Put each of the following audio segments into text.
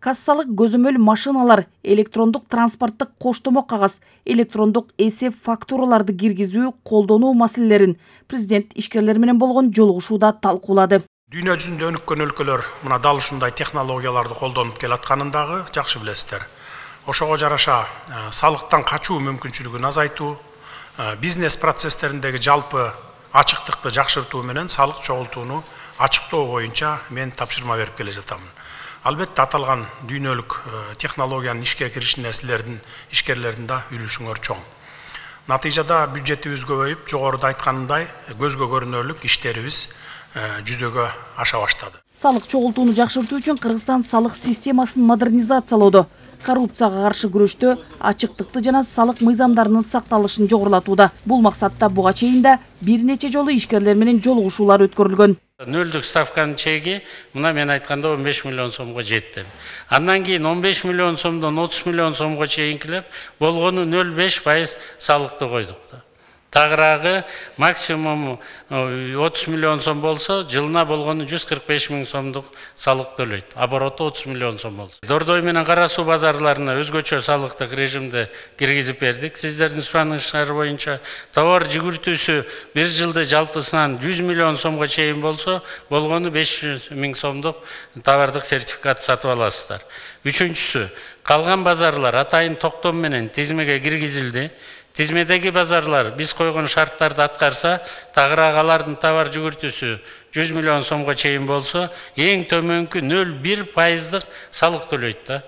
Кассалык көзөмөл машиналар, электрондук транспорттук коштомо кагаз, электрондук эсеп фактураларды киргизүү, колдонуу маселелерин президент ишкерлер менен болгон жолугушууда талкуулады. Дүйнө жүзүндө өнүккөн өлкөлөр мына дал ушундай технологияларды колдонуп келатканын дагы жакшы билесиздер. Ошого жараша салыктан качуу мүмкүнчүлүгүн азайтуу, бизнес процесстериндеги жалпы ачыктыкты жакшыртуу менен салык чогултууну ачыктоо боюнча мен тапшырма берип келе жатамын. Албетте аталган дүйнөлүк технологиянын ишке кириш ишкерлердин да үлүшүңөр чоң. Натыйжада бюджетибиз көбөйүп, жогоруда айтканымдай көзгө көрүнөрлүк иштерибиз жүзөгө аша баштады. Салык чогултууну жакшыртуу үчүн Кыргызстан салык системасын модернизациялоодо, коррупцияга каршы күрөштө ачыктыкты жана салык мыйзамдарынын сакталышын жогорулатууда. Бул максатта буга чейин да бир нече жолу ишкерлер менен жолугушуулар өткөрүлгөн. Нөлдүк ставканын чеги мына мен айтканда 15 миллион сомго жетти. Андан кийин 15 миллион сомдон 30 миллион сомго чейинкилер болгону 0,5% салыкты койдук. Тагыраагы максимум 30 миллион сом болсо, жылына болгону 145 миң сомдук салык төлөйт. Обороту 30 миллион сом болсо. Дордой менен Кара суу базарларына өзгөчө салыктык режимди киргизип бердик. Сиздердин суранышыңар боюнча товар жүгүртүүсү бир жылда жалпысынан 100 миллион сомго чейин болсо, болгону 500 миң сомдук товардык сертификат сатып аласыздар. Үчүнчүсү, калган базарлар атайын токтом менен тизмеге киргизилди. Тизмедеги базарлар биз койгон шарттарды аткарса, тагырагалардын товар жүгүртүүсү 100 миллион сомго чейин болсо, эң төмөнкү 0,1% салык төлөйт да.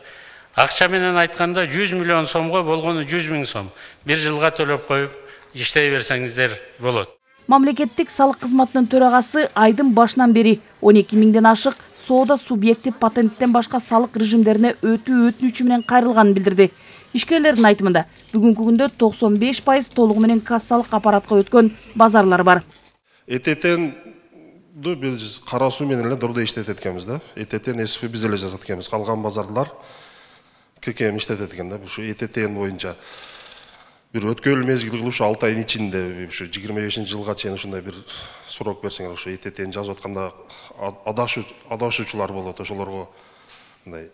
Акча менен айтканда 100 миллион сомго болгону 100 миң сом. Бир жылга төлөп коюп иштей берсеңиздер болот. Мамлекеттик салык кызматынын төрагасы айдын башынан бери 12 миңден ашык соода субъекти патенттен башка салык режимдерине өтүү өтүнүчү менен кайрылганын билдирди. Ишкерлердин айтымында бүгүнкү күндө 95% толугу менен кассалык аппаратка өткөн базарлар бар. ЭТТ-н биз кара суу менен эле дордой иштетет экенбиз да. ЭТТ-н эсипи биз эле жасат экенбиз. Калган базарлар ККМ иштетет экен да. Ушу ЭТТ-н боюнча бир өткөрүл мезгил кылып ушу 6 айдын ичинде ушу 25-жылга чейин ушундай бир срок берсеңер, ушу ЭТТ-н жазып атканда адашуучулар болот, ошолорго мындай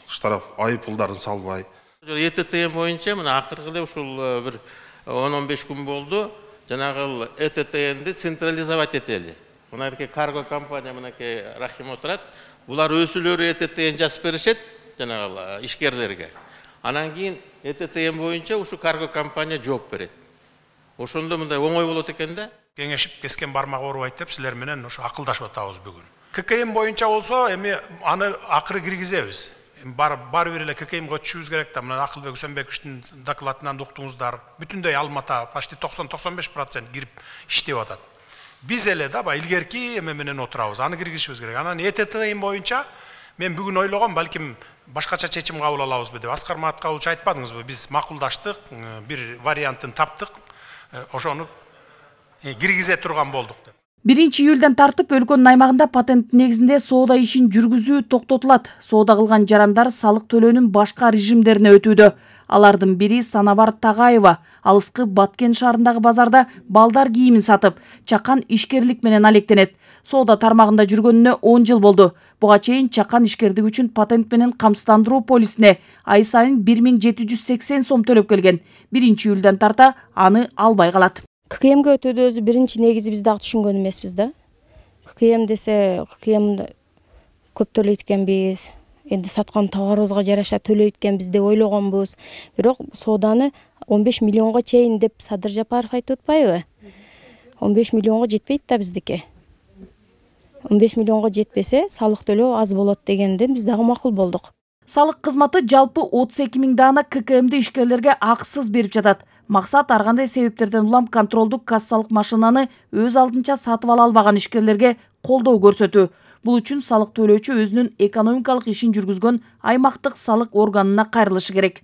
штраф айып пулдарын салбай. ЭТТ боюнча мына акыркы эле ушул бир 10-15 күн болду. Жанагы ЭТТ-ди централизовать этели. Мынакей карго компания мынакей Рахим отурат. Булар өзүлөрү ЭТТ жазып беришет жанагы ишкерлерге. Анан кийин ЭТТ боюнча ушу карго компания жооп берет. Ошондо мындай оңой болот экен да. Кеңешип кескен бармак оорубайт деп силер менен ушу акылдашып атабыз бүгүн. ККМ боюнча болсо эми аны акыры киргизебиз. Бары бир эле ККМге өтүшүбүз керек да. Мына Акылбек Үсөнбековичтин докладынан уктуңуздар. Бүтүндөй Алмата почти 90-95% кирип иштеп атат. Биз эле да илгерки эме менен отурабыз. Аны киргизишибиз керек. Анан ЭТТ боюнча мен бүгүн ойлогом, балким башкача чечим кабыл алабызбы деп. Аскар Маткалович айтпадыңызбы? Биз макулдаштык, бир вариантын таптык, ошону киргизе турган болдук деп. 1-июлдан тартып өлкөнүн аймагында патент негизинде соода ишин жүргүзүү токтотулат. Соода кылган жарандар салык төлөөнүн башка режимдерине өтүүдө. Алардын бири Санабар Тагаева, алыскы Баткен шаарындагы базарда балдар кийимин сатып, чакан ишкерлик менен алектенет. Соода тармагында жүргөнүнө 10 жыл болду. Буга чейин чакан ишкердик үчүн патент менен камсыздандыруу полисине ай сайын 1780 сом төлөп келген. 1-июлдан тарта аны албай калат. ККМге өтүүдө өзү биринчи негизи биз дагы түшүнгөн эмеспиз да. ККМ десе ККМ көп төлөйт экенбиз. Энди саткан товарыбызга жараша төлөйт экенбиз деп ойлогонбуз. Бирок сооданы 15 миллионго чейин деп Садыр Жапаров айтып атпайбы? 15 миллионго жетпейт да биздики. 15 миллионго жетпесе салык төлөө аз болот дегенден биз дагы макул болдук. Салык кызматы жалпы 32 миң даана ККМди ишкерлерге акысыз берип жатат. Максат ар кандай себептерден улам контролдук кассалык машинаны өз алдынча сатып ала албаган ишкерлерге колдоо көрсөтүү. Бул үчүн салык төлөөчү өзүнүн экономикалык ишин жүргүзгөн аймактык салык органына кайрылышы керек.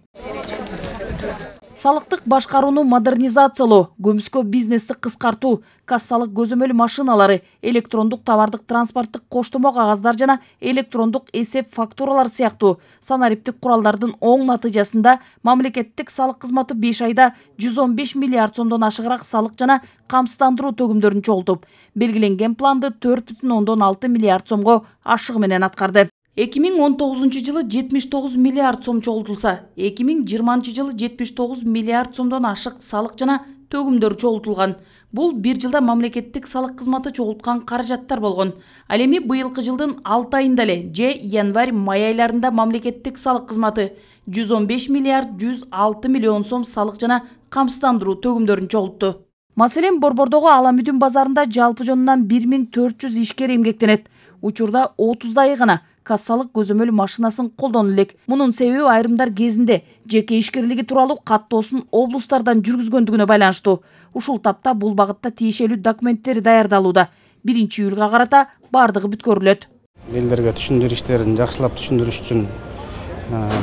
Салыктык башкарууну модернизациялоо, көмүскө бизнести кыскартуу, кассалык көзөмөл машиналары, электрондук товардык транспорттук коштомо кагаздар жана электрондук эсеп фактуралар сыяктуу санариптик куралдардын оң натыйжасында мамлекеттик салык кызматы 5 айда 115 миллиард сомдон ашыгыраак салык жана камсыздандыруу төгүмдөрүн чогултуп, белгиленген планды 4,6 миллиард сомго ашыгы менен аткарды. 2019 жылы 79 миллиард сом чогултулса, 2020 жылы 79 миллиард сомдон ашык салык жана төгүмдөр чогултулган. Бул бир жылда мамлекеттик салык кызматы чогулткан каражаттар болгон. Ал эми быйылкы жылдын 6 айында эле же январь-май айларында мамлекеттик салык кызматы 115 миллиард 106 миллион сом салык жана камсыздандыруу төгүмдөрүн чогултту. Маселен, Борбордогу Аламүдүн базарында жалпы жонунан 1400 ишкер эмгектенет. Учурда 30 гана кассалык көзөмөл машинасын колдону элек. Мунун себеби айрымдар кезинде жеке ишкерлиги тууралуу каттоосун облустардан жүргүзгөндүгүнө байланыштуу. Ушул тапта бул багытта тиешелүү документтер даярдалууда. 1-июлга карата бардыгы бүткөрүлөт. Элдерге түшүндүрүү иштерин жакшылап түшүндүрүш үчүн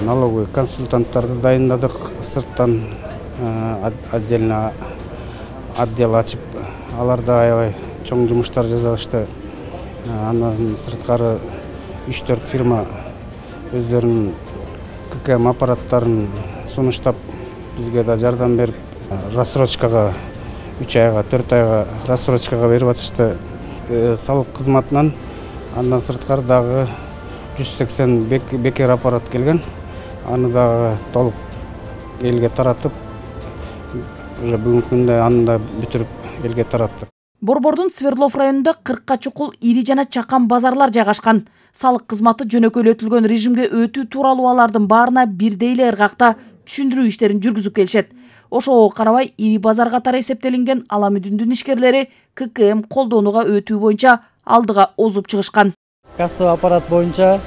налоговый консультанттарды дайындадык. Сырттан отдельно отдел ачып, аларда аябай чоң жумуштар жасалышты. Андан сырткары 3-4 фирма өздөрүнүн ККМ аппараттарын сунуштап, бизге да жардам берип, рассрочкага 3 айга, 4 айга рассрочкага берип атышты салык кызматынан. Андан сырткары дагы 180 бекер аппарат келген. Аны дагы толук элге таратып, уже бүгүнкү күндө аны да бүтүрүп элге тараттык. Борбордун Свердлов районунда 40 чукул ири жана чакан базарлар жайгашкан. Салык кызматы жөнөкөйлөтүлгөн режимге өтүү тууралуу алардын баарына бирдей эле ыргакта түшүндүрүү иштерин жүргүзүп келишет. Ошого карабай, ири базар катары эсептелинген Аламүдүндүн ишкерлери ККМ колдонууга өтүү боюнча алдыга озуп чыгышкан. Кассовый аппарат боюнча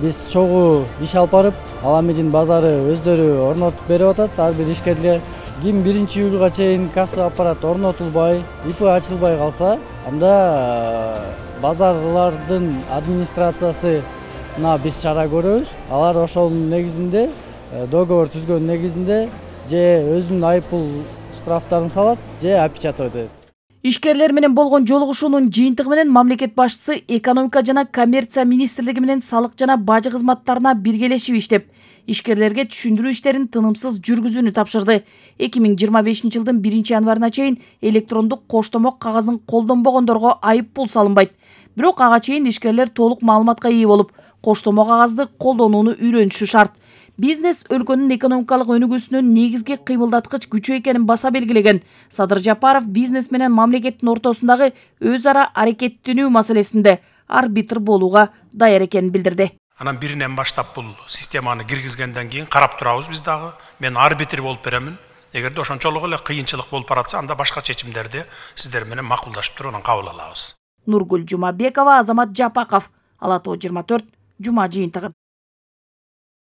биз чогуу иш алып барып, Аламүдүн базары өздөрү орнотуп берип атат. Ар бир ишкерлер ким 1-июлга чейин кассовый аппарат орнотулбай, ИП ачылбай калса, анда базарлардын администрациясына биз чара көрөбүз. Алар ошонун негизинде, договор түзгөн негизинде же өзүнүн айыппул штрафтарын салат, же опечатать этет. Ишкерлер менен болгон жолугушуунун жыйынтыгы менен мамлекет башчысы экономика жана коммерция министрлиги менен салык жана бажы кызматтарына биргелешип иштеп, ишкерлерге түшүндүрүү иштерин тынымсыз жүргүзүүнү тапшырды. 2025 жылдын 1-январына чейин электрондук коштомок кагазын колдонбогондорго айыппул салынбайт. Бирок ага чейин ишкерлер толук маалыматка ээ болуп, коштомок кагазды колдонууну үйрөнүшү шарт. Бизнес өлкөнүн экономикалык өнүгүүсүнүн негизги кыймылдаткыч күчү экенин баса белгилеген Садыр Жапаров бизнес менен мамлекеттин ортосундагы өз ара аракеттенүү маселесинде арбитр болууга даяр экенин билдирди. Анан биринен баштап бул системаны киргизгенден кийин карап турабыз биз дагы. Мен арбитр болуп беремин. Эгерде ошончолук эле кыйынчылык болуп баратса, анда башка чечимдерди сиздер менен макулдашып туруп анан кабыл алабыз. Нургүл Жумабекова, Азамат Жапаков, Ала Тоо 24, Жума жыйынтыгы.